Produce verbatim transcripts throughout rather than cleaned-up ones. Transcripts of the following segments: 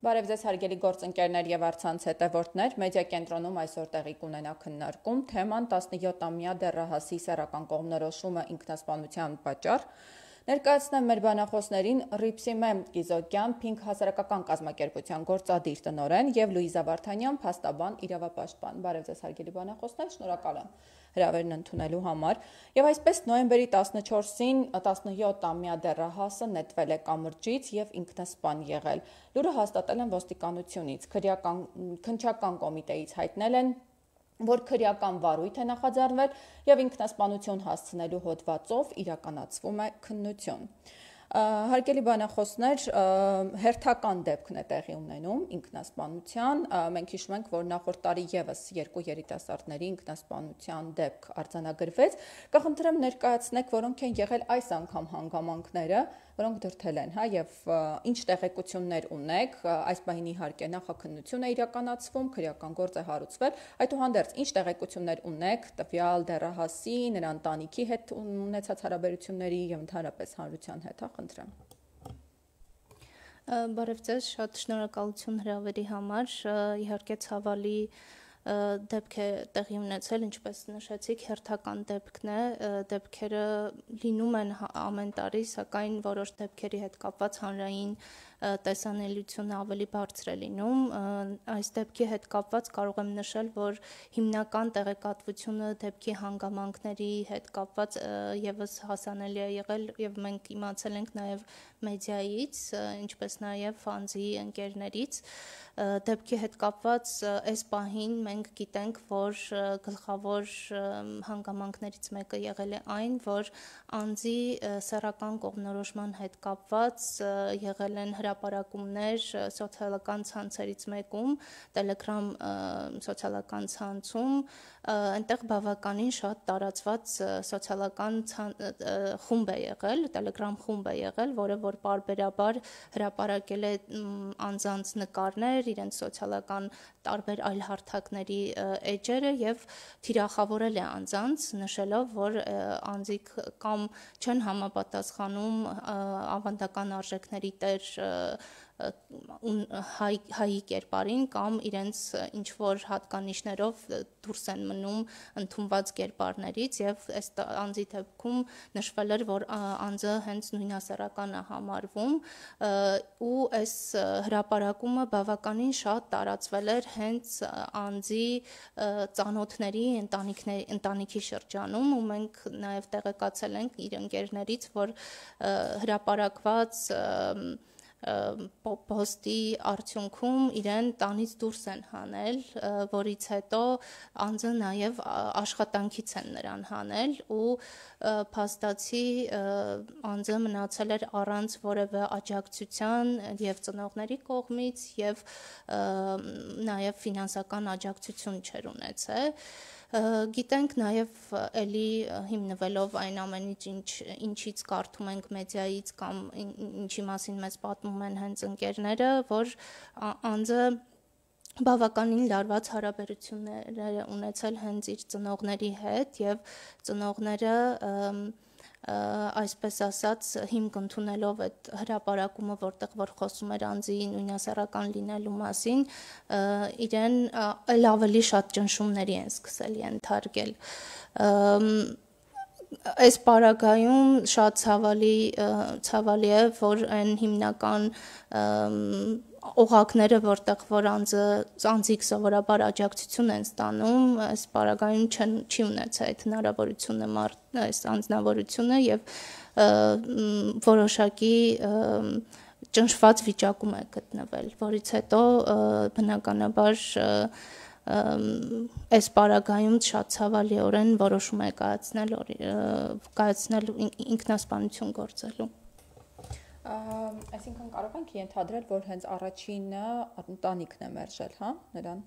Բարև ձեզ հարգելի գործընկերներ եւ առցանց հետևորդներ, մեդիա կենտրոնում այսօր տեղի կունենա քննարկում, թեման տասնյոթամյա դեռահասի սեռական կողմնորոշումը ինքնասպանության պատճառ։ Ներկայացնեմ մեր բանախոսներին Ռիփսիմե Գիզոկյան, Փինք հասարակական կազմակերպության գործադիր տնօրեն եւ Լուիզա Վարդանյան, փաստաբան, իրավապաշտպան։ Բարև ձեզ հարգելի բանախոսներ, շնորհակալ եմ հրավերն ընդունելու համար։ Եվ այսպես նոյեմբերի տասնչորսին տասնյոթամյա դեռահասը նետվել է կամրջից եւ ինքնասպան եղել։ Լուրը հաստատել են ոստիկանությունից, քննչական կոմիտեից հայտնել են, որ քրեական վարույթ է նախաձեռնվել եւ ինքնասպանություն հասցնելու հոդվածով իրականացվում է քննություն։ Հարգելի բանախոսներ, հերթական դեպքն է տեղի ունենում ինքնասպանության։ Մենք հիշում ենք, որ նախորդ տարի եւս երկու երիտասարդների ինքնասպանության դեպք արձանագրվեց։ Կխնդրեմ ներկայացնեք, որոնք են եղել այս անգամ հանգամանքները, որոնք դրդել են, հա, եւ ինչ տեղեկություններ ունեք։ Այս պահին իհարկե նախաքննություն է իրականացվում, քրեական գործ է հարուցվել։ Այդուհանդերձ, ինչ տեղեկություններ ունեք տվյալ դեռահասի, նրա ընտանիքի հետ ունեցած հարաբերությունների եւ ընդհանրապես հանրության հետ, հա, խնդրեմ։ Բարև ձեզ, շատ շնորհակալություն հրավերի համար, իհարկե ցավալի դեպք է տեղի ունեցել, ինչպես նշեցիք, հերթական դեպքն է, դեպքերը լինում են ամեն տարի, սակայն որոշ դեպքերի հետ կապված հանրային տեսանելիությունը ավելի բարձր է լինում։ Այս դեպքի հետ կապված կարող եմ նշել, որ հիմնական տեղեկատվությունը դեպքի հանգամանքների հետ կապված եւս հասանելի է եղել եւ մենք իմացել ենք նաեւ մեդիայից, ինչպես նաեւ անձի ընկերներից։ Դեպքի հետ կապված այս պահին մենք գիտենք, որ գլխավոր հանգամանքներից մեկը եղել է այն, որ անձի սեռական կողմնորոշման հետ կապված եղել են հրապարակումներ սոցիալական ցանցերից մեկում, Telegram սոցիալական ցանցում, այնտեղ բավականին շատ տարածված սոցիալական խումբ է եղել, Telegram խումբ է եղել, որը որ պարբերաբար հրապարակել է անձանց նկարներ, իրենց սոցիալական տարբեր այլ հարթակների էջերը եւ թիրախավորել է անձանց, նշելով, որ անձիկ կամ չեն համապատասխանում ավանդական արժեքների տեր հայ, հայի կերպարին կամ իրենց ինչ որ հատկանիշներով դուրս են մնում ընդունված կերպարներից եւ այս անձի դեպքում նշվել էր, որ անձը հենց նույնասեռական է համարվում ու այս հրապարակումը բավականին շատ տարածվել էր հենց անձի ծանոթների, ընտանիքների, ընտանիքի շրջանում ու մենք նաեւ տեղեկացել ենք իր ընկերներից, որ հրապարակված պոստի արդյունքում իրեն տանից դուրս են հանել, որից հետո անձը նաև աշխատանքից են նրան հանել ու փաստացի անձը մնացել էր առանց որևէ աջակցության եւ ծնողների կողմից եւ նաև ֆինանսական աջակցություն չէր ունեցել։ Գիտենք նաև էլի հիմնվելով այն ամենից ինչ, ինչից կարդում ենք մեդիայից կամ ինչի մասին մեզ պատմում են հենց ընկերները, որ անձը բավականին լարված հարաբերություններ է ունեցել հենց իր ծնողների հետ եւ ծնողները այսպես ասած հիմք ընդունելով այդ հրապարակումը, որտեղ որ խոսում էր անձի նույնասեռական լինելու մասին, իրեն այլ ավելի շատ ճնշումների են սկսել ենթարկել։ Այս պարագայում շատ ցավալի ցավալի է, որ այն հիմնական օղակները, որտեղ որ անձը անձիկ սովորաբար աջակցություն են ստանում, այս պարագայում չեն չի ունեցել այդ հնարավորությունը այս անձնավորությունը եւ որոշակի ճնշված վիճակում է գտնվել, որից հետո բնականաբար այս պարագայում շատ ցավալիորեն որոշում է կայացնել կայացնել ինքնասպանություն գործելու։ Այսինքն կարող ենք ենթադրել, որ հենց առաջինը ընտանիքն է մերժել, հա, նրան։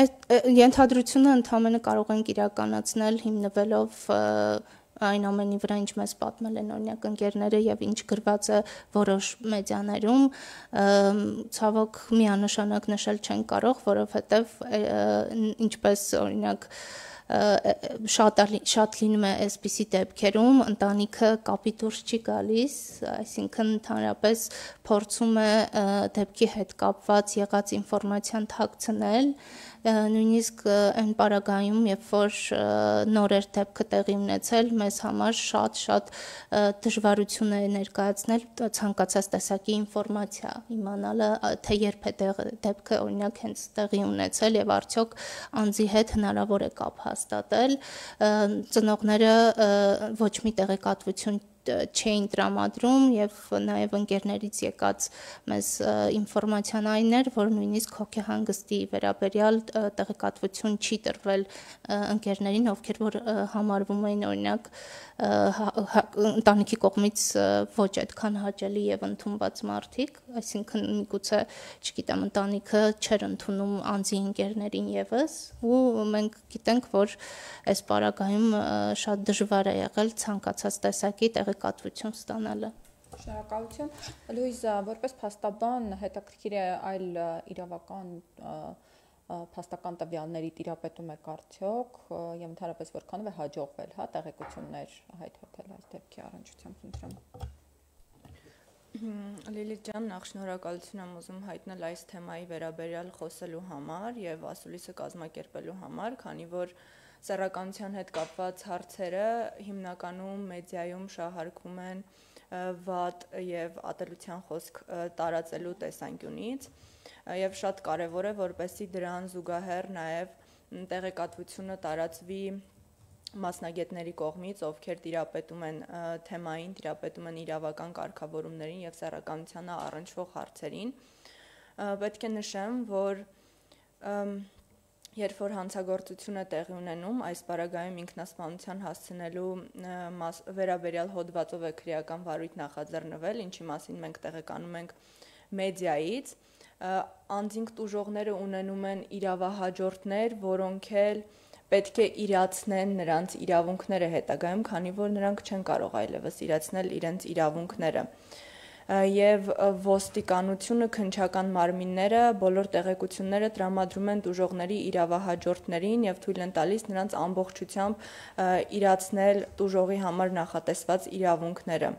Այդ ենթադրությունը ընդհանրապես կարող ենք իրականացնել հիմնվելով այն ամենի վրա, ինչ մեզ պատմել են օրինակ ընկերները եւ ինչ գրված է որոշ մեդիաներում, ցավոք միանշանակ նշել չեն կարող, որովհետեւ ինչպես օրինակ շատ շատ լինում է այսպիսի դեպքերում ընտանիքը կապի դուրս չի գալիս, այսինքն ընդհանրապես փորձում է դեպքի հետ կապված եղած ինֆորմացիան թաքցնել, նույնիսկ այն պարագայում, երբ որ նոր էր դեպքը տեղի ունեցել, մեզ համար շատ-շատ դժվարություն է ներկայացնել ցանկացած տեսակի ինֆորմացիա իմանալը, թե երբ է դեպքը օրինակ հենց տեղի ունեցել եւ արդյոք անձի հետ հնարավոր է կապ հաստատել, ծնողները ոչ մի տեղեկատվություն չէին տրամադրում եւ նաեւ ընկերներից եկած մեզ ինֆորմացիան այն էր, որ նույնիսկ հոգեհանգստի վերաբերյալ տեղեկատվություն չի տրվել ընկերներին, ովքեր որ համարվում էին օրինակ ընտանիքի կողմից ոչ այդքան հաճելի եւ ընդունված մարդիկ, այսինքն միգուցե, չգիտեմ, ընտանիքը չէր ընդունում անձի ընկերներին եւս, ու մենք գիտենք, որ այս պարագայում շատ դժվար է եղել ցանկացած տեսակի տեղեկատվություն ստանալը։ Շնորհակալություն։ Լուիզա, որպես փաստաբան, հետաքրքիր է այլ իրավական փաստական տվյալների տիրապետում եք արդյոք եւ ընդհանրապես որքանով է հաջողվել, հա, տեղեկություններ հայտնել այս դեպքի առնչությամբ խնդրեմ։ Լիլիթ ջան, նախ շնորհակալություն եմ ուզում հայտնել այս թեմայի վերաբերյալ խոսելու համար եւ ասուլիսը կազմակերպելու համար, քանի որ սեռականության հետ կապված հարցերը հիմնականում մեդիայում շահարկվում են վատ եւ ատելության խոսք տարածելու տեսանկյունից եւ շատ կարեւոր է, որպեսզի դրան զուգահեռ նաեւ տեղեկատվությունը տարածվի մասնագետների կողմից, ովքեր տիրապետում են թեմային, տիրապետում են իրավական կարգավորումներին եւ սեռականությանը առնչվող հարցերին։ Պետք է նշեմ, որ երբ որ հանցագործությունը տեղի ունենում, այս պարագայում ինքնասպանության հասցնելու վերաբերյալ հոդվածով է քրեական վարույթ նախաձեռնվել, ինչի մասին մենք տեղեկանում ենք մեդիայից, անձինք տուժողները ունենում են իրավահաջորդներ, որոնք էլ պետք է իրացնեն նրանց իրավունքները հետագայում, քանի որ նրանք չեն կարող այլևս իրացնել իրենց իրավունքները։ Եվ ոստիկանությունը, քննչական մարմինները բոլոր տեղեկությունները տրամադրում են տուժողների իրավահաջորդներին եւ թույլ են տալիս նրանց ամբողջությամբ իրացնել տուժողի համար նախատեսված իրավունքները։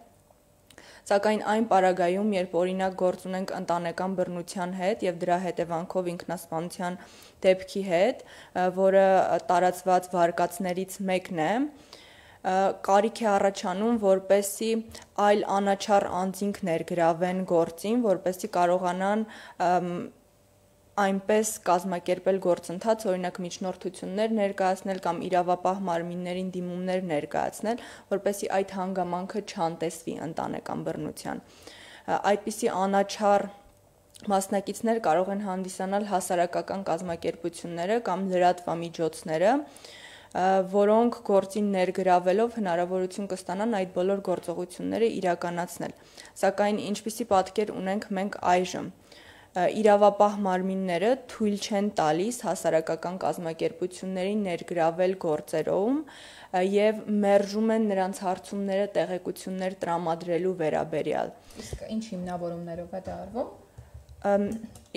Սակայն այն պարագայում, երբ օրինակ գործ ունենք ընտանեկան բռնության հետ եւ դրա հետևանքով ինքնասպանության դեպքի հետ, որը տարածված վարկածներից մեկն է, կարիք է առաջանում, որպեսզի այլ անաչառ անձինք ներգրավեն գործին, որպեսզի կարողանան այնպես կազմակերպել գործընթաց, օրինակ միջնորդություններ ներկայացնել կամ իրավապահ մարմիններին դիմումներ ներկայացնել, որպեսզի այդ հանգամանքը չանտեսվի ընտանեկան բռնության։ Այդպիսի անաչառ մասնակիցներ կարող են հանդիսանալ հասարակական կազմակերպությունները կամ լրատվամիջոցները, որոնք գործին ներգրավելով հնարավորություն կստանան այդ բոլոր գործողությունները իրականացնել։ Սակայն ինչպիսի պատկեր ունենք մենք այժմ։ Իրավապահ մարմինները թույլ չեն տալիս հասարակական կազմակերպություններին ներգրավել գործերում եւ մերժում են նրանց հարցումները տեղեկություններ տրամադրելու վերաբերյալ։ Իսկ ինչ հիմնավորումներով է դա արվում։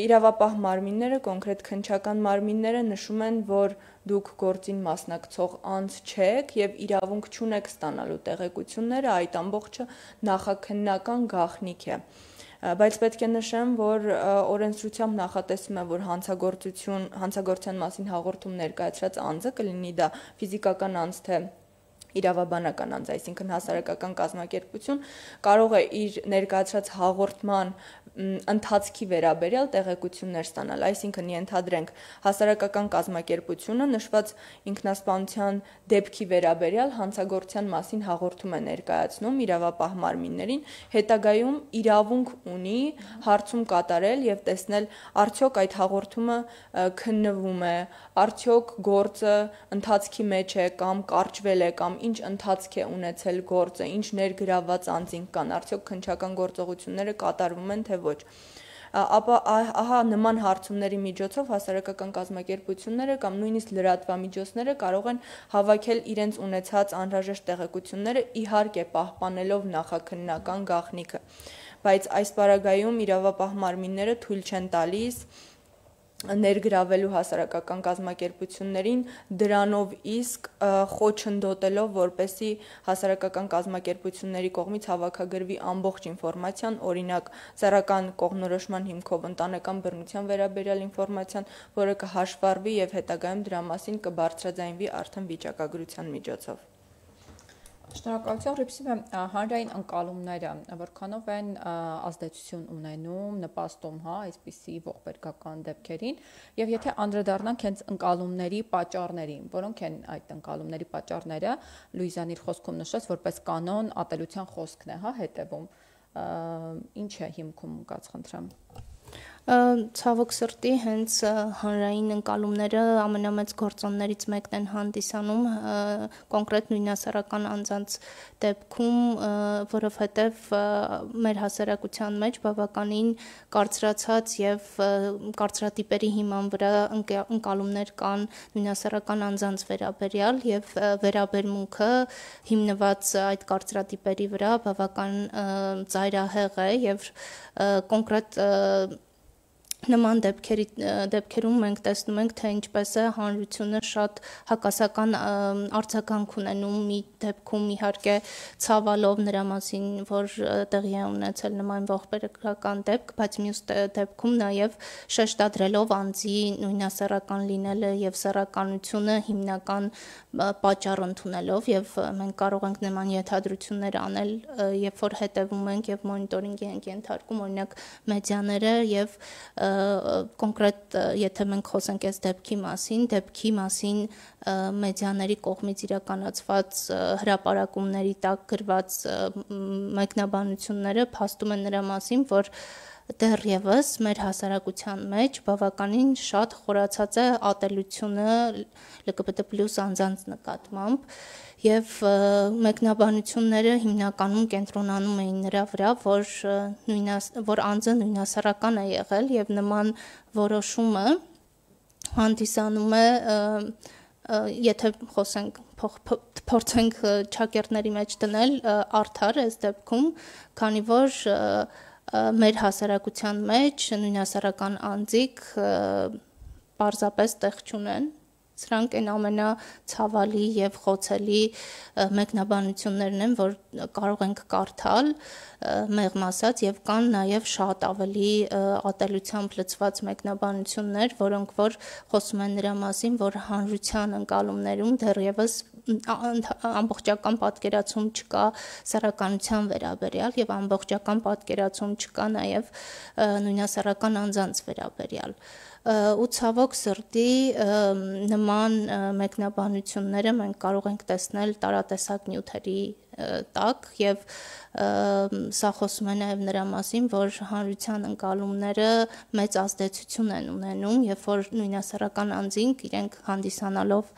Իրավապահ մարմինները, կոնկրետ քննչական մարմինները նշում են, որ դուք գործին մասնակցող անձ չեք եւ իրավունք չունեք ստանալու տեղեկությունները, այդ ամբողջը նախաքննական գաղտնիք է։ Բայց պետք է նշեմ, որ օրենսդրությամբ նախատեսվում է, որ հանցագործություն, հանցագործության մասին հաղորդում ներկայացրած անձը, կլինի դա ֆիզիկական անձ, թե իրավաբանական անձ, այսինքն հասարակական կազմակերպություն, կարող է իր ներկայացրած հաղորդման ընթացքի վերաբերյալ տեղեկություններ ստանալ, այսինքն ենթադրենք հասարակական կազմակերպությունը նշված ինքնասպանության դեպքի վերաբերյալ հանցագործության մասին հաղորդում է ներկայացնում իրավապահ մարմիններին, հետագայում իրավունք ունի հարցում կատարել եւ տեսնել արդյոք այդ հաղորդումը քննվում է, արդյոք գործը ընթացքի մեջ է կամ կարճվել է կամ ինչ ընթացք է ունեցել գործը, ինչ ներգրավված անձինք կան, արդյոք քննչական գործողությունները կատարվում են թե ոչ։ Ապա ահա նման հարցումների միջոցով հասարակական կազմակերպությունները կամ նույնիսկ լրատվամիջոցները կարող են հավաքել իրենց ունեցած անհրաժեշտ տեղեկությունները, իհարկե պահպանելով նախաքննական գաղտնիքը, բայց այս պարագայում իրավապահ մարմինները թույլ չեն տալիս ներգրավելու հասարակական կազմակերպություններին, դրանով իսկ խոչընդոտելով, որպեսզի հասարակական կազմակերպությունների կողմից հավաքագրվի ամբողջ ինֆորմացիան, օրինակ սեռական կողմնորոշման հիմքով ընտանեկան բռնության վերաբերյալ ինֆորմացիան, որը կհաշվառվի եւ հետագայում դրա մասին կբարձրաձայնվի արդեն վիճակագրության միջոցով։ Շնորհակալություն, Ռիփսիմե, հանրային ընկալումները որքանով են ազդեցություն ունենում, նպաստում, հա, այսպիսի ողբերգական դեպքերին, եւ եթե անդրադառնանք հենց ընկալումների պատճառներին, որոնք են այդ ընկալումների պատճառները, Լուիզան իր խոսքում նշեց, որպես կանոն ատելության խոսքն է, հա, հետևում, ինչ է հիմքում կաց խնդրեմ։ Ցավոք սրտի հենց հանրային ընկալումները ամենամեծ գործոններից մեկն են հանդիսանում կոնկրետ նույնասեռական անձանց դեպքում, որովհետև մեր հասարակության մեջ բավականին կարծրացած եւ կարծրատիպերի հիման վրա ընկալումներ կան նույնասեռական անձանց վերաբերյալ եւ վերաբերմունքը հիմնված այդ կարծրատիպերի վրա բավական ծայրահեղ է եւ կոնկրետ նման դեպքերի դեպքերում մենք տեսնում ենք, թե ինչպես է հանրությունը շատ հակասական արձագանք ունենում մի դեպքում, իհարկե ցավալով նրա մասին, որ տեղի է ունեցել նման ողբերգական դեպք, բայց մյուս դեպքում նաև շեշտադրելով անձի նույնասեռական լինելը եւ սեռականությունը հիմնական պատճառ ընդունելով, եւ մենք կարող ենք նման ենթադրություններ անել, երբ որ հետևում ենք եւ մոնիտորինգի ենք ենթարկում, օրինակ մեդիաները եւ կոնկրետ եթե մենք խոսենք այս դեպքի մասին, դեպքի մասին մեդիաների կողմից իրականացված հրապարակումների տակ գրված մեկնաբանությունները փաստում են նրա մասին, որ դեռևս մեր հասարակության մեջ բավականին շատ խորացած է ատելությունը L G B T plus անձանց նկատմամբ եւ մեկնաբանությունները հիմնականում կենտրոնանում էին նրա վրա, որ նույնաս որ անձը նույնասեռական է եղել եւ նման որոշումը հանդիսանում է եթե խոսենք փորձենք ճակերտների մեջ դնել արդար այս դեպքում, քանի որ մեր հասարակության մեջ նույնասեռական անձիկ պարզապես տեղ չունեն, սրանք են ամենացավալի եւ խոցելի մեկնաբանություններն են, որ կարող ենք կարդալ մեղմ ասած եւ կան նաեւ շատ ավելի ատելությամբ լցված մեկնաբանություններ, որոնք որ խոսում են նրա մասին, որ հանրության ընկալումներում դեռևս ամբողջական պատկերացում չկա սեռականության վերաբերյալ եւ ամբողջական պատկերացում չկա նաեւ նույնասեռական անձանց վերաբերյալ ու ցավոք սրտի նման մեկնաբանությունները մենք կարող ենք տեսնել տարատեսակ նյութերի տակ եւ սա խոսում է նաեւ նրա մասին, որ հանրության ընկալումները մեծ ազդեցություն են ունենում, երբ որ նույնասեռական անձինք իրենք հանդիսանալով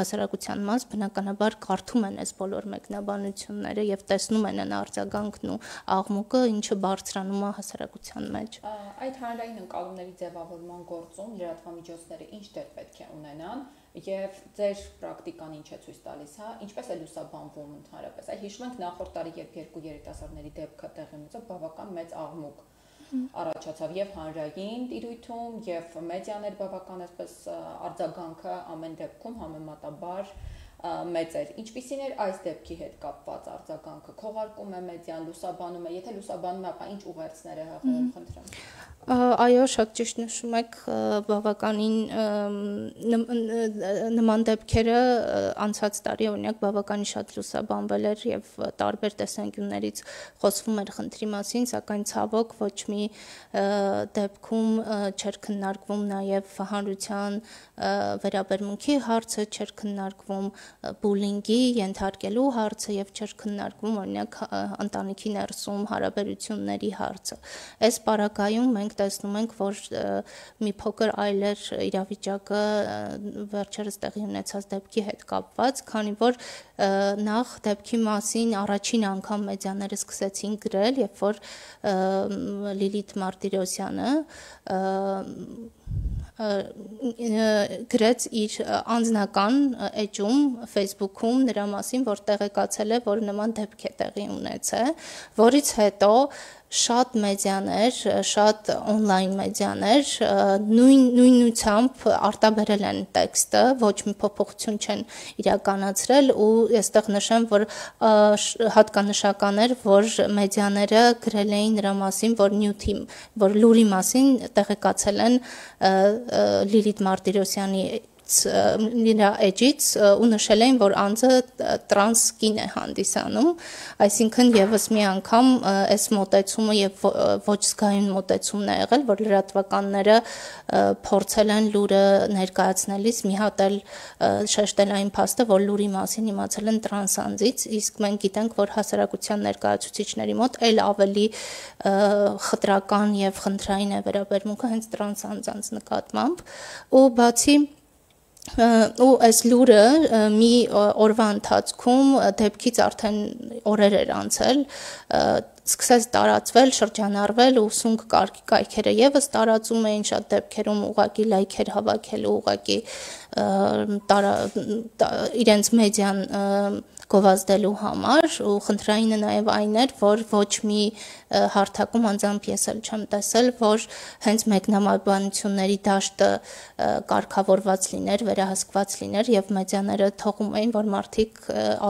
հասարակության մաս բնականաբար կարդում են այս բոլոր մեկնաբանությունները եւ տեսնում են այն արձագանքն ու աղմուկը, ինչը բարձրանում է հասարակության մեջ։ Այդ հանրային ընկալումների ձևավորման գործում լրատվամիջոցները ինչ դեր պետք է ունենան եւ ձեր պրակտիկան ինչ է ցույց տալիս, հա, ինչպես է լուսաբանվում ընդհանրապես։ Այ հիշում ենք նախորդ տարի, երբ երկու երիտասարդների դեպքը տեղի ունեցավ, բավական մեծ աղմուկ առաջացավ եւ հանրային տիրույթում եւ մեդիաներ բավական այսպես արձագանքը ամեն դեպքում համեմատաբար մեծ էր։ Ինչպիսին էր այս դեպքի հետ կապված արձագանքը, քողարկում է մեդիան, լուսաբանում է, եթե լուսաբանում է, ապա ինչ ուղերձներ է հղում, խնդրեմ։ Այո, շատ ճիշտ նշում եք, բավականին նման դեպքերը անցած տարի օրինակ բավականին շատ լուսաբանվել էր եւ տարբեր տեսանկյուններից խոսվում էր խնդրի մասին, սակայն ցավոք ոչ մի դեպքում չէր քննարկվում նաեւ հանրության վերաբերմունքի հարցը, չէր քննարկվում բուլինգի ենթարկելու հարցը եւ չէր քննարկվում օրինակ ընտանիքի ներսում հարաբերությունների հարցը։ Այս պարագայում մենք տեսնում ենք, որ մի փոքր այլ էր իրավիճակը վերջերս տեղի ունեցած դեպքի հետ կապված, քանի որ նախ դեպքի մասին առաջին անգամ մեդիաները սկսեցին գրել, երբ որ Լիլիթ Մարտիրոսյանը գրեց իր անձնական էջում Facebook-ում նրա մասին, որ տեղեկացել է, որ նման դեպք է տեղի ունեցել, որից հետո շատ մեդիաներ, շատ on-line մեդիաներ նույն նույնությամբ արտաբերել են տեքստը, ոչ մի փոփոխություն չեն իրականացրել ու այստեղ նշեմ, որ հատկանշական էր, որ մեդիաները գրել էին նրա մասին, որ նյութի, որ լուրի մասին տեղեկացել են Լիլիթ Մարտիրոսյանի նրա էջից ու նշել էին, որ անձը տրանս կին է հանդիսանում, այսինքն եւս մի անգամ այս մոտեցումը եւ ոչ զգայուն մոտեցումն է եղել, որ լրատվականները փորձել են լուրը ներկայացնելիս մի հատ էլ շեշտել այն փաստը, որ լուրի մասին իմացել են տրանս անձից, իսկ մենք գիտենք, որ հասարակության ներկայացուցիչների մոտ այլ ավելի խտրական եւ խնդրային է վերաբերմունքը հենց տրանս անձանց նկատմամբ ու բացի ու այս լուրը մի օրվա ընթացքում դեպքից արդեն օրեր էր անցել, սկսեց տարածվել, շրջանառվել ու սունկ կայքերը եւս տարածում էին շատ դեպքերում ուղակի լայքեր հավաքելու ուղակի իրենց մեդիան գովազդելու համար ու խնդրայինը նաև այն էր, որ ոչ մի հարթակում անձամբ ես էլ չեմ տեսել, որ հենց մեկնաբանությունների դաշտը կարգավորված լիներ, վերահսկված լիներ եւ մեդիաները թողում էին, որ մարդիկ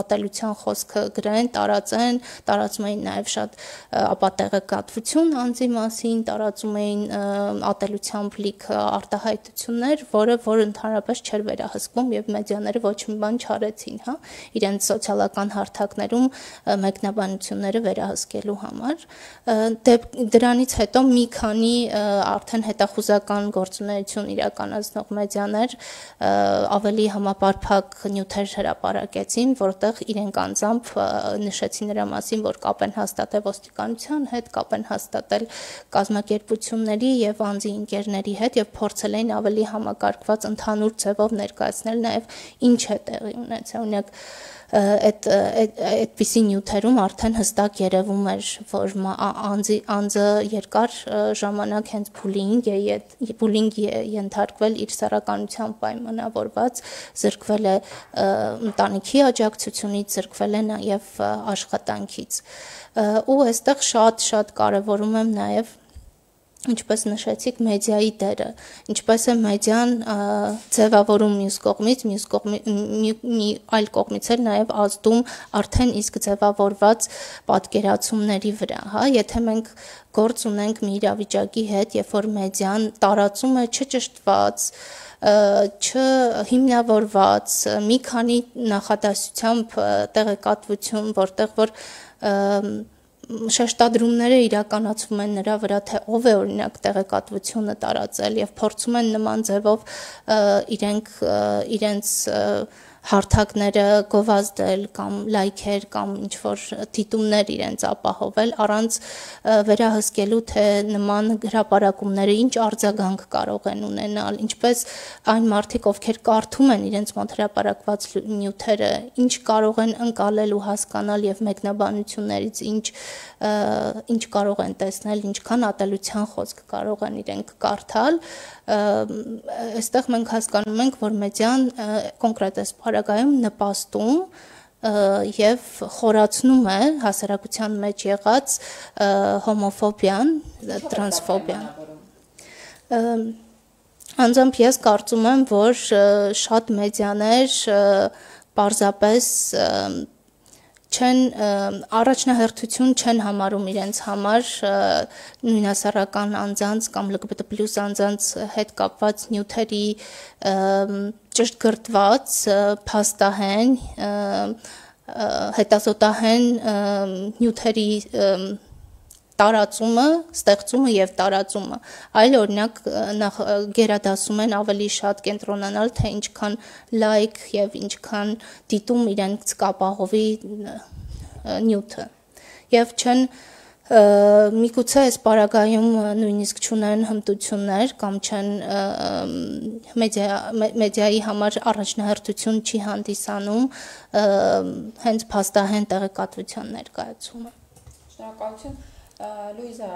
ատելության խոսքը գրեն, տարածեն, տարածում էին նաև շատ ապատեղեկատվություն անձի մասին, տարածում էին ատելությամբ լիք արտահայտություններ, որը որ ընդհանրապես չէր վերահսկվում եւ մեդիաները ոչ մի բան չարեցին, հա, իրենց սոցիալական հարթակներում մեկնաբանությունները վերահսկելու համար դրանից հետո մի քանի արդեն հետախուզական գործունեություն իրականացնող մեդիաներ ավելի համապարփակ նյութեր հրապարակեցին, որտեղ իրենք անձամբ նշեցին նրա մասին, որ կապ են հաստատել ոստիկանության հետ, կապ են հաստատել կազմակերպությունների եւ անձի ընկերների հետ եւ փորձել էին ավելի համակարգված ընդհանուր ձևով ներկայացնել նաեւ ինչ է տեղի ունեցել, օրինակ այդ այդպիսի նյութերում արդեն հստակ երևում էր, որ անձի անձը երկար ժամանակ հենց բուլինգ է բուլինգ է ենթարկվել իր սեռականությամբ պայմանավորված, զրկվել է ընտանիքի աջակցությունից, զրկվել է նաև աշխատանքից ու այստեղ շատ-շատ կարևորում եմ նաև ինչպես նշեցիք մեդիայի դերը, ինչպես է մեդիան ձևավորում մյուս կողմից, մյուս կողմի մի այլ կողմից էլ նաև ազդում արդեն իսկ ձևավորված պատկերացումների վրա, հա, եթե մենք գործ ունենք մի իրավիճակի հետ, երբ որ մեդիան տարածում է չճշտված, չհիմնավորված, մի քանի նախադասությամբ տեղեկատվություն, որտեղ որ շեշտադրումները իրականացվում են նրա վրա, թե ով է օրինակ տեղեկատվությունը տարածել եւ փորձում են նման ձևով իրենք իրենց հարթակները գովազդել կամ լայքեր կամ ինչ որ դիտումներ իրենց ապահովել առանց վերահսկելու թե նման հրապարակումները ինչ արձագանք կարող են ունենալ, ինչպես այն մարդիկ, ովքեր կարդում են իրենց մոտ հրապարակված նյութերը, ինչ կարող են ընկալել ու հասկանալ եւ մեկնաբանություններից ինչ ինչ կարող են տեսնել, ինչքան ատելության խոսք կարող են իրենք կարդալ, այստեղ մենք հասկանում ենք, որ մեդիան կոնկրետ այս պարագայում նպաստում եւ խորացնում է հասարակության մեջ եղած հոմոֆոբիան, տրանսֆոբիան։ Անձամբ ես կարծում եմ, որ շատ մեդիաներ պարզապես չեն առաջնահերթություն չեն համարում իրենց համար նույնասեռական անձանց կամ L G B T plus անձանց հետ կապված նյութերի ճշտգրտված, փաստահեն, հետազոտահեն նյութերի տարածումը, ստեղծումը եւ տարածումը, այլ օրինակ նախ գերադասում են ավելի շատ կենտրոնանալ, թե ինչքան լայք եւ ինչքան դիտում իրենց կապահովի նյութը եւ չեն միգուցե այս պարագայում նույնիսկ չունեն հմտություններ կամ չեն մեդիա մեդիայի համար առաջնահերթություն չի հանդիսանում հենց փաստահեն տեղեկատվության ներկայացումը։ Շնորհակալություն։ Լուիզա,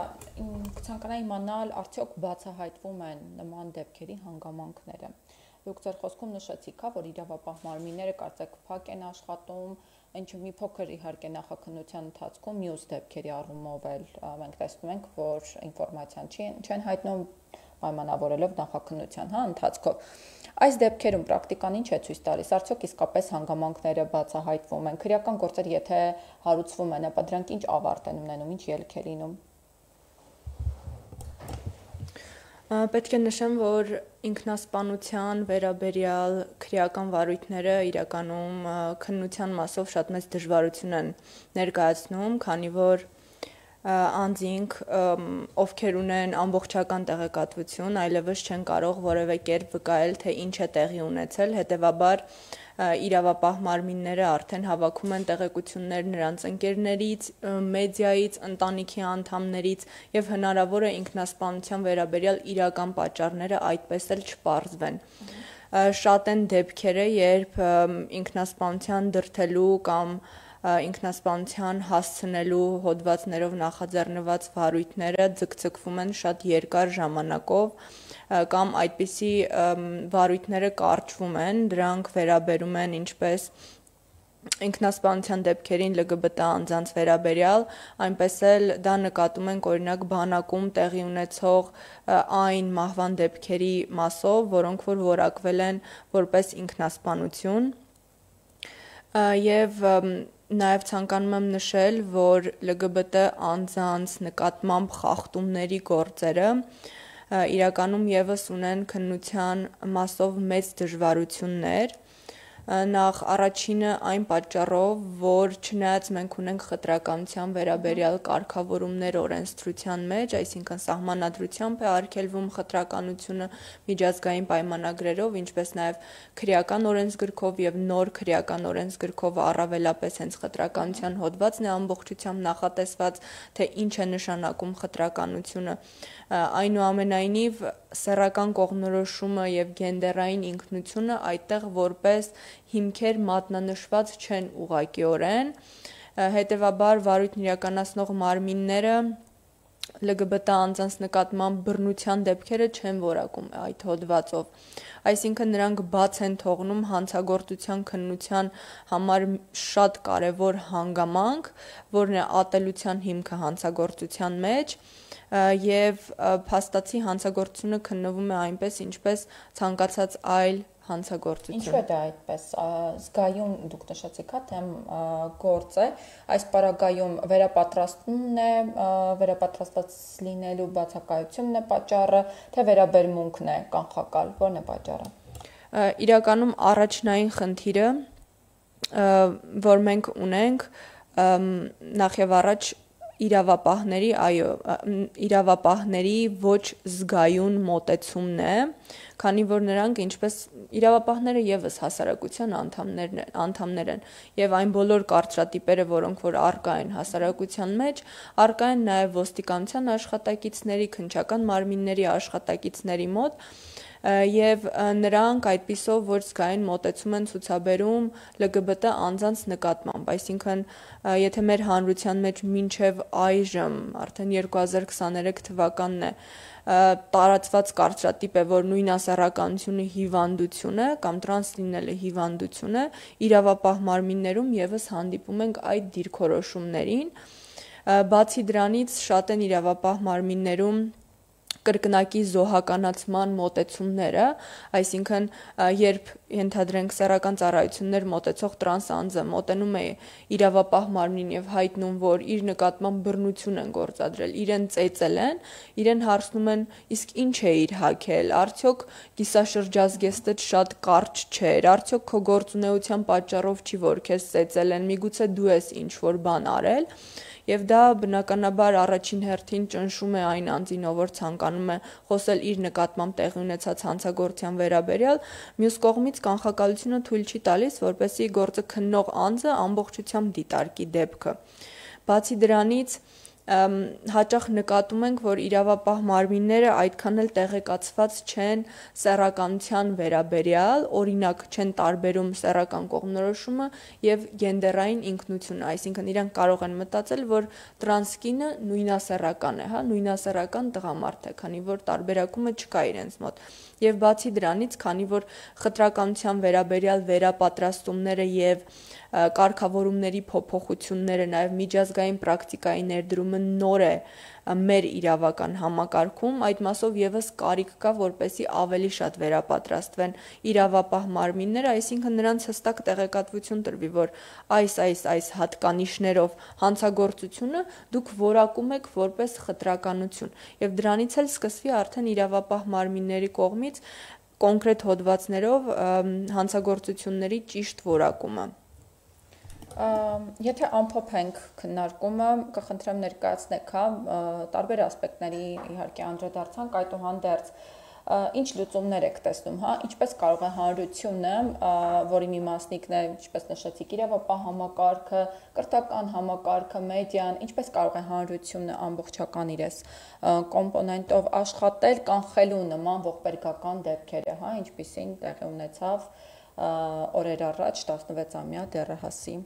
կցանկանայի իմանալ, արդյոք բացահայտվում են նման դեպքերի հանգամանքները։ Դուք ձեր խոսքում նշեցիք, որ իրավապահ մարմինները կարծեք փակ են աշխատում, Ինչ մի փոքր իհարկե նախաքննության ընթացքում մյուս դեպքերի առումով էլ մենք տեսնում ենք, որ ինֆորմացիան չեն հայտնում պայմանավորելով նախաքննության հա ընթացքով։ Այս դեպքերում պրակտիկան ինչ է ցույց տալիս, արդյոք իսկապես հանգամանքները բացահայտվում են, քրեական գործեր եթե հարուցվում են, ապա դրանք ինչ ավարտ են ունենում, ինչ ելք է լինում։ Պետք է նշեմ, որ ինքնասպանության վերաբերյալ քրեական վարույթները իրականում քննության մասով շատ մեծ դժվարություն են ներկայացնում, քանի որ անձինք, ովքեր ունեն ամբողջական տեղեկատվություն, այլևս չեն կարող որևէ կերպ վկայել, թե ինչ է տեղի ունեցել, հետևաբար իրավապահ մարմինները արդեն հավաքում են տեղեկություններ նրանց ընկերներից, մեդիայից, ընտանիքի անդամներից եւ հնարավոր է ինքնասպանության վերաբերյալ իրական պատճառները այդպես էլ չպարզվեն։ Շատ են դեպքերը, երբ ինքնասպանության դրդելու կամ ինքնասպանության հասցնելու հոդվածներով նախաձեռնված վարույթները ձգձգվում են շատ երկար ժամանակով կամ այդպիսի վարույթները կարճվում են, դրանք վերաբերում են ինչպես ինքնասպանության դեպքերին ԼԳԲՏ անձանց վերաբերյալ, այնպես էլ դա նկատում ենք օրինակ բանակում տեղի ունեցող այն մահվան դեպքերի մասով, որոնք որ որակվել են որպես ինքնասպանություն եւ Նաև ցանկանում եմ նշել, որ ԼԳԲՏ անձանց նկատմամբ խախտումների գործերը իրականում եւս ունեն քննության մասով մեծ դժվարություններ, նախ առաջինը այն պատճառով, որ չնայած մենք ունենք խտրականության վերաբերյալ կարգավորումներ օրենսդրության մեջ, այսինքն սահմանադրությամբ է արգելվում խտրականությունը միջազգային պայմանագրերով, ինչպես նաև քրեական օրենսգրքով եւ նոր քրեական օրենսգրքով առավելապես հենց խտրականության հոդվածն է ամբողջությամբ նախատեսված, թե ինչ է նշանակում խտրականությունը, այնուամենայնիվ սեռական կողմնորոշումը եւ գենդերային ինքնությունը այդտեղ որպես հիմքեր մատնանշված չեն ուղղակիորեն, հետևաբար վարույթն իրականացնող մարմինները ԼԳԲՏ անձանց նկատմամբ բռնության դեպքերը չեն որակում այդ հոդվածով, այսինքն նրանք բաց են թողնում հանցագործության քննության համար շատ կարևոր հանգամանք, որն է ատելության հիմքը հանցագործության մեջ, եւ փաստացի հանցագործությունը քննվում է այնպես, ինչպես ցանկացած այլ հանցագործություն։ Ինչու է դա այդպես։ Զգայուն դուք նշեցիք, հա, թե գործ է, այս պարագայում վերապատրաստումն է, վերապատրաստված լինելու բացակայությունն է պատճառը, թե վերաբերմունքն է կանխակալ, ո՞րն է պատճառը։ Իրականում առաջնային խնդիրը, որ մենք ունենք, նախ եւ առաջ իրավապահների, այո, իրավապահների ոչ զգայուն մոտեցումն է, քանի որ նրանք ինչպես իրավապահները եւս հասարակության անդամներ անդամներ են եւ այն բոլոր կարծրատիպերը, որոնք որ առկա են հասարակության մեջ, առկա են նաեւ ոստիկանության աշխատակիցների, քննչական մարմինների աշխատակիցների մոտ եւ նրանք այդպիսով ոչ զգայուն մոտեցում են ցուցաբերում ԼԳԲՏ անձանց նկատմամբ, այսինքն եթե մեր հանրության մեջ մինչեւ այժմ արդեն երկու հազար քսաներեք թվականն է տարածված կարծրատիպ է, որ նույն ասեռականությունը հիվանդություն է կամ տրանս լինելը հիվանդություն է, իրավապահ մարմիններում եւս հանդիպում ենք այդ դիրքորոշումներին, բացի դրանից շատ են իրավապահ մարմիններում կրկնակի զոհականացման մոտեցումները, այսինքն երբ ենթադրենք սեռական ծառայություններ մոտեցող տրանս անձը մոտենում է իրավապահ մարմնին եւ հայտնում, որ իր նկատմամբ բռնություն են գործադրել, իրեն ծեծել են, իրեն հարցնում են, իսկ ինչ է իր հագել, արդյոք կիսաշրջազգեստը շատ կարճ չէր, արդյոք քո գործունեության պատճառով չի որ քեզ ծեծել են, միգուցե դու ես ինչ որ բան արել, եւ դա բնականաբար առաջին հերթին ճնշում է այն անձին, ով ցանկանում է խոսել իր նկատմամբ տեղի ունեցած հանցագործության վերաբերյալ, մյուս կողմից կանխակալությունը թույլ չի տալիս, որպեսզի գործը քննող անձը ամբողջությամբ դիտարկի դեպքը։ Բացի դրանից հաճախ նկատում ենք, որ իրավապահ մարմինները այդքան էլ տեղեկացված չեն սեռականության վերաբերյալ, օրինակ չեն տարբերում սեռական կողմնորոշումը եւ գենդերային ինքնությունը, այսինքն իրանք կարող են մտածել, որ տրանսկինը նույնասեռական է, հա, նույնասեռական տղամարդ է, քանի որ տարբերակումը չկա իրենց մոտ։ Եվ բացի դրանից, քանի որ խտրականության վերաբերյալ վերապատրաստումները եւ կարգավորումների փոփոխությունները, նաեւ միջազգային պրակտիկայի ներդրումը նոր է մեր իրավական համակարգում, այդ մասով եւս կարիք կա, որպեսզի ավելի շատ վերապատրաստվեն իրավապահ մարմինները, այսինքն նրանց հստակ տեղեկատվություն տրվի, որ այս այս այս հատկանիշներով հանցագործությունը դուք որակում եք որպես խտրականություն, եւ դրանից էլ սկսվի արդեն իրավապահ մարմինների կողմից կոնկրետ հոդվածներով հանցագործությունների ճիշտ որակումը։ Եթե ամփոփենք քննարկումը, կխնդրեմ ներկայացնեք, հա, տարբեր ասպեկտների իհարկե անդրադարձանք, այդուհանդերձ ինչ լուծումներ եք տեսնում, հա, ինչպես կարող է հանրությունը, որի մի մասնիկն է, ինչպես նշեցիք, իրավապահ համակարգը, կրթական համակարգը, մեդիան, ինչպես կարող է հանրությունը ամբողջական իրես կոմպոնենտով աշխատել, կանխելու նման ողբերգական դեպքերը, հա, ինչպիսին տեղի ունեցավ օրեր առաջ տասնվեցամյա դեռահասի։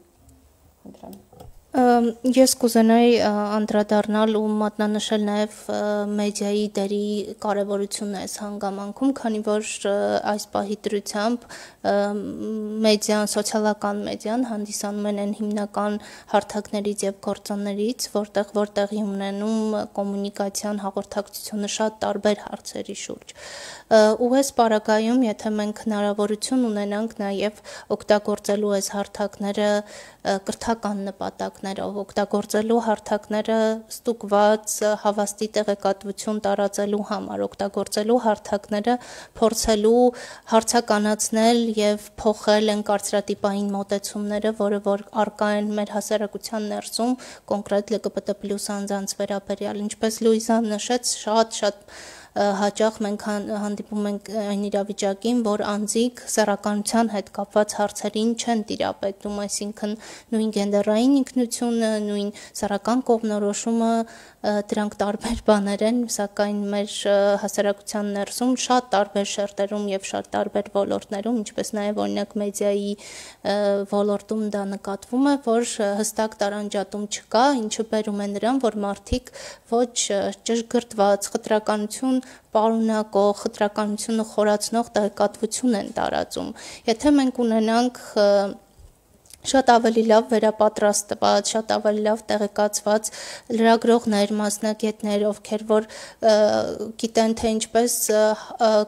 Ես կուզենայի անդրադառնալ ու մատնանշել նաև մեդիայի դերի կարևորությունը այս հանգամանքում, քանի որ այս պահի դրությամբ մեդիան, սոցիալական մեդիան հանդիսանում են այն հիմնական հարթակներից եւ գործոններից, որտեղ որտեղի ունենում կոմունիկացիան, հաղորդակցությունը շատ տարբեր հարցերի շուրջ։ Ու այս պարագայում, եթե մենք հնարավորություն ունենանք նաև օգտագործելու այս հարթակները կրթական նպատակներով, օգտագործելու հարթակները ստուգված հավաստի տեղեկատվություն տարածելու համար, օգտագործելու հարթակները փորձելու հարցականացնել եւ փոխել են կարծրատիպային մոտեցումները, որը որ առկա են մեր հասարակության ներսում, կոնկրետ L G B T plus անձանց վերաբերյալ, ինչպես Լուիզան նշեց, շատ-շատ հաճախ մենք հանդիպում ենք այն իրավիճակին, որ անձիկ սեռականության հետ կապված հարցերին չեն տիրապետում, այսինքն նույն գենդերային ինքնությունը, նույն սեռական կողմնորոշումը, դրանք տարբեր բաներ են, սակայն մեր հասարակության ներսում շատ տարբեր շերտերում եւ շատ տարբեր ոլորտներում, ինչպես նաեւ օրինակ մեդիայի ոլորտում դա նկատվում է, որ հստակ տարանջատում չկա, ինչը բերում է նրան, որ մարդիկ ոչ ճշգրտված խտրականություն պարունակող, խտրականությունը խորացնող տեղեկատվություն են տարածում։ Եթե մենք ունենանք շատ ավելի լավ վերապատրաստված, շատ ավելի լավ տեղեկացված լրագրողներ, մասնագետներ, ովքեր որ գիտեն թե ինչպես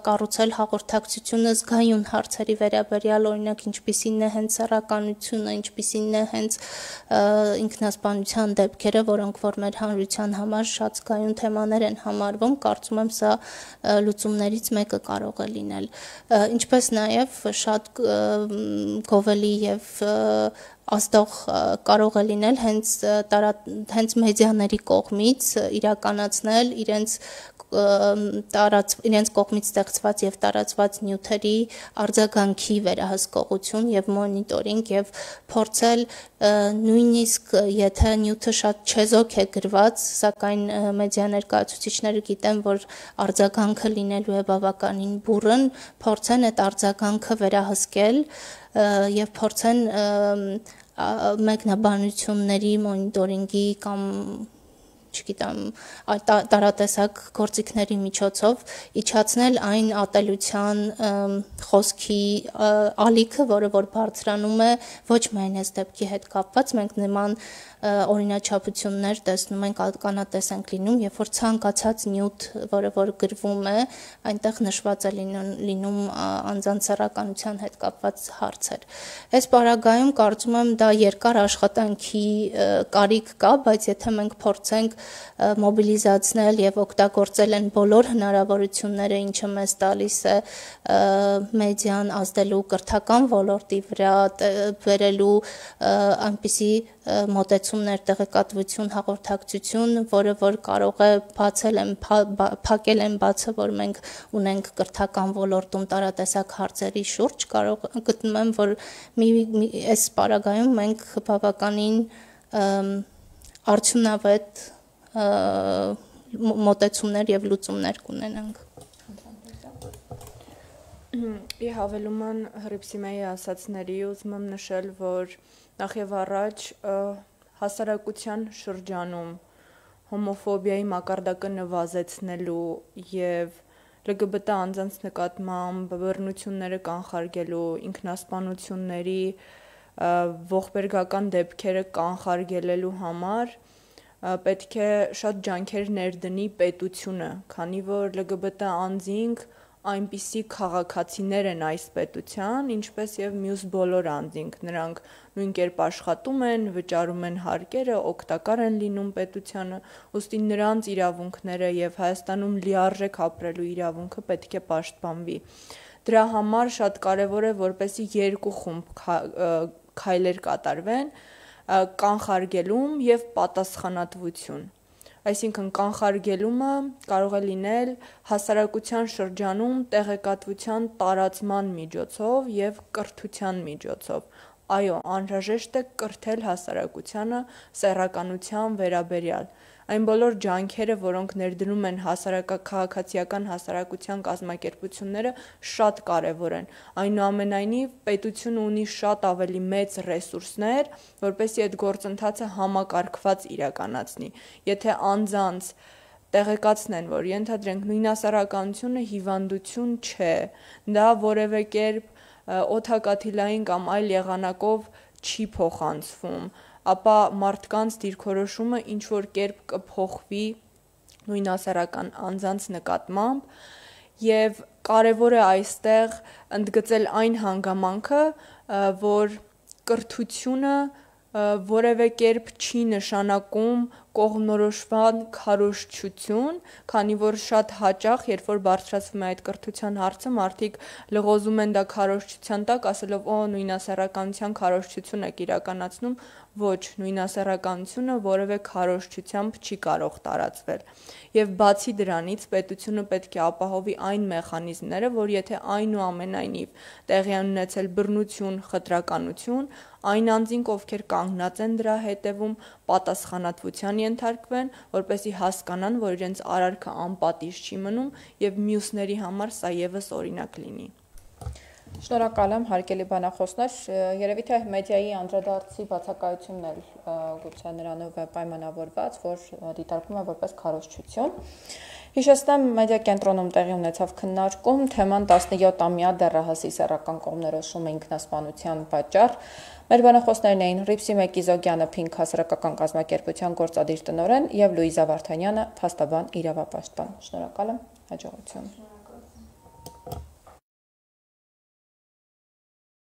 կառուցել հաղորդակցությունը զգայուն հարցերի վերաբերյալ, օրինակ ինչպիսին է հենց սեռականությունը, ինչպիսին է հենց ինքնասպանության դեպքերը, որոնք որ մեր հանրության համար շատ զգայուն թեմաներ են համարվում, կարծում եմ սա լուծումներից մեկը կարող է լինել։ Ինչպես նաև շատ գովելի եւ ազդող կարող է լինել հենց հենց մեդիաների կողմից իրականացնել իրենց տարած իրենց կողմից ստեղծված եւ տարածված նյութերի արձագանքի վերահսկողություն եւ մոնիտորինգ եւ փորձել նույնիսկ եթե նյութը շատ չեզոք է գրված, սակայն մեդիա ներկայացուցիչները գիտեն, որ արձագանքը լինելու է բավականին բուռն, փորձեն այդ արձագանքը վերահսկել եւ փորձեն մեկնաբանությունների մոնիտորինգի կամ չգիտեմ, տարատեսակ գործիքների միջոցով իջացնել այն ատելության խոսքի ալիքը, որը որ բարձրանում է ոչ միայն այս դեպքի հետ կապված, մենք նման օրինաչափություններ տեսնում ենք, ականատես ենք լինում, երբ որ ցանկացած նյութ, որը որ գրվում է, այնտեղ նշված է լինում անձանց սեռականության հետ կապված հարցեր։ Այս պարագայում կարծում եմ դա երկար աշխատանքի կարիք կա, բայց եթե մենք փորձենք մոբիլիզացնել եւ օգտագործել են բոլոր հնարավորությունները, ինչը մեզ տալիս է մեդիան ազդելու կրթական ոլորտի վրա, վերելու այնպիսի մոտեցումներ, տեղեկատվություն, հաղորդակցություն, որը որ կարող է բացել են, փակել են բացը, որ մենք ունենք կրթական ոլորտում տարատեսակ հարցերի շուրջ, կարող գտնում եմ, որ մի այս պարագայում մենք բավականին արդյունավետ մոտեցումներ եւ լուծումներ կունենանք։ Ի հավելուման Հռիփսիմեի ասացների ուզում եմ նշել, որ նախ եւ առաջ հասարակության շրջանում հոմոֆոբիայի մակարդակը նվազեցնելու եւ L G B T անձանց նկատմամբ բռնությունները կանխարգելու, ինքնասպանությունների ողբերգական դեպքերը կանխարգելելու համար պետք է շատ ջանքեր ներդնի պետությունը, քանի որ L G B T անձինք այնպիսի քաղաքացիներ են այս պետության, ինչպես եւ մյուս բոլոր անձինք, նրանք նույն կերպ աշխատում են, վճարում են հարկերը, օգտակար են լինում պետությանը, ուստի նրանց իրավունքները եւ Հայաստանում լիարժեք ապրելու իրավունքը պետք է պաշտպանվի։ Դրա համար շատ կարեւոր է, որպեսզի երկու խումբ քայլեր կատարվեն, կանխարգելում եւ պատասխանատվություն։ Այսինքն կանխարգելումը կարող է լինել հասարակության շրջանում տեղեկատվության տարածման միջոցով եւ կրթության միջոցով։ Այո, անհրաժեշտ է կրթել հասարակությանը սեռականության վերաբերյալ։ Այն բոլոր ջանքերը, որոնք ներդնում են հասարակաքաղաքացիական հասարակության կազմակերպությունները, շատ կարևոր են։ Այնուամենայնիվ, պետությունը ունի շատ ավելի մեծ ռեսուրսներ, որպեսզի այդ գործընթացը համակարգված իրականացնի։ Եթե անձանց տեղեկացնեն, որ ենթադրենք նույնասեռականությունը հիվանդություն չէ, դա որևէ կերպ օդակաթիլային կամ այլ եղանակով չի փոխանցվում, ապա մարդկանց դիրքորոշումը ինչ որ կերպ կփոխվի նույնասեռական անձանց նկատմամբ եւ կարեւոր է այստեղ ընդգծել այն հանգամանքը, որ կրթությունը որևէ կերպ չի նշանակում կողմնորոշման քարոզչություն, քանի որ շատ հաճախ, երբ որ բարձրացվում է այդ կրթության հարցը, մարդիկ լղոզում են դա քարոզչության տակ, ասելով՝ «Օ, նույնասեռականության քարոզչություն եք իրականացնում», ոչ, նույնասեռականությունը որևէ քարոզչությամբ չի կարող տարածվել։ Եվ բացի դրանից պետությունը պետք է ապահովի այն մեխանիզմները, որ եթե այնուամենայնիվ տեղի են ունեցել բռնություն, խտրականություն, այն անձինք, ովքեր կանգնած են դրա հետևում, պատասխանատվության ենթարկվեն, որպեսզի հասկանան, որ իրենց արարքը անպատիժ չի մնում եւ մյուսների համար սա եւս օրինակ լինի։ Շնորհակալ եմ, հարգելի բանախոսներ, երևի թե մեդիայի անդրադարձի բացակայությունն էլ գուցե նրանով է պայմանավորված, որ դիտարկվում է որպես քարոզչություն։ Հիշեցնեմ, մեդիա կենտրոնում տեղի ունեցավ քննարկում, թեման տասնյոթամյա դեռահասի սեռական կողմնորոշումը ինքնասպանության պատճառ։ Մեր բանախոսներն էին Հռիփսիմե Կիզոկյանը, Փինք հասարակական կազմակերպության գործադիր տնօրեն, եւ Լուիզա Վարդանյանը, փաստաբան, իրավապաշտպան։ Շնորհակալ եմ, հաջողություն։